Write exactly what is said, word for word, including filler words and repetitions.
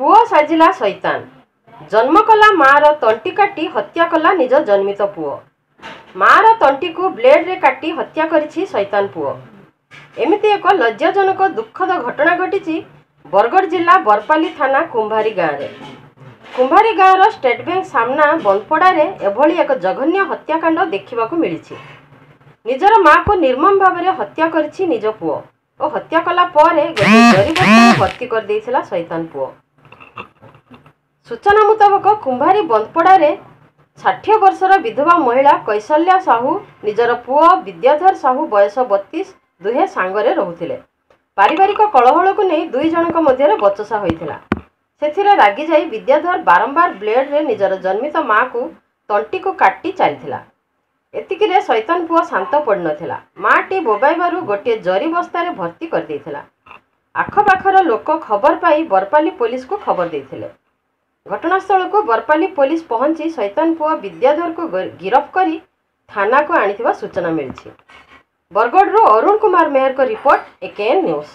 ପୁଅ ସାଜିଲା ସୈତାନ। ଜନ୍ମ କଲା ମାଆର ତଣ୍ଟି କାଟି ହତ୍ୟା କଲା ନିଜ ଜନ୍ମିତ ପୁଅ। ମାଆର ତଣ୍ଟିକୁ ବ୍ଲେଡ୍ରେ କାଟି ହତ୍ୟା କରିଛି ସୈତାନ ପୁଅ। ଏମିତି ଏକ ଲଜ୍ଜାଜନକ ଦୁଃଖଦ ଘଟଣା ଘଟିଛି ବରଗଡ଼ ଜିଲ୍ଲା ବରପାଲି ଥାନା କୁମ୍ଭାରୀ ଗାଁରେ। କୁମ୍ଭାରୀ ଗାଁର ଷ୍ଟେଟ୍ ବ୍ୟାଙ୍କ ସାମ୍ନା ବନ୍ଦପଡ଼ାରେ ଏଭଳି ଏକ ଜଘନ୍ୟ ହତ୍ୟାକାଣ୍ଡ ଦେଖିବାକୁ ମିଳିଛି। ନିଜର ମାଆକୁ ନିର୍ମମ ଭାବରେ ହତ୍ୟା କରିଛି ନିଜ ପୁଅ ଓ ହତ୍ୟା କଲା ପରେ ଗୋଟିଏ ଜରି ବସ୍ତାରେ ଭର୍ତ୍ତି କରିଦେଇଥିଲା ସୈତାନ ପୁଅ। ସୂଚନା ମୁତାବକ, କୁମ୍ଭାରୀ ବନ୍ଦପଡ଼ାରେ ଷାଠିଏ ବର୍ଷର ବିଧବା ମହିଳା କୈଶଲ୍ୟା ସାହୁ ନିଜର ପୁଅ ବିଦ୍ୟାଧର ସାହୁ, ବୟସ ବତିଶ, ଦୁହେଁ ସାଙ୍ଗରେ ରହୁଥିଲେ। ପାରିବାରିକ କଳହଳକୁ ନେଇ ଦୁଇ ଜଣଙ୍କ ମଧ୍ୟରେ ବଚସା ହୋଇଥିଲା। ସେଥିରେ ରାଗିଯାଇ ବିଦ୍ୟାଧର ବାରମ୍ବାର ବ୍ଲେଡ୍ରେ ନିଜର ଜନ୍ମିତ ମାଆକୁ ତଣ୍ଟିକୁ କାଟି ଚାଲିଥିଲା। ଏତିକିରେ ସୈତାନ ପୁଅ ଶାନ୍ତ ପଡ଼ିନଥିଲା। ମାଆଟି ବୋବାଇବାରୁ ଗୋଟିଏ ଜରି ବସ୍ତାରେ ଭର୍ତ୍ତି କରିଦେଇଥିଲା। ଆଖପାଖର ଲୋକ ଖବର ପାଇ ବରପାଲି ପୋଲିସକୁ ଖବର ଦେଇଥିଲେ। ଘଟଣାସ୍ଥଳକୁ ବରପାଲି ପୋଲିସ ପହଞ୍ଚି ସୈତାନ ପୁଅ ବିଦ୍ୟାଧରକୁ ଗିରଫ କରି ଥାନାକୁ ଆଣିଥିବା ସୂଚନା ମିଳିଛି। ବରଗଡ଼ରୁ ଅରୁଣ କୁମାର ମେହେରଙ୍କ ରିପୋର୍ଟ, ଏକେଏନ୍ ନ୍ୟୁଜ୍।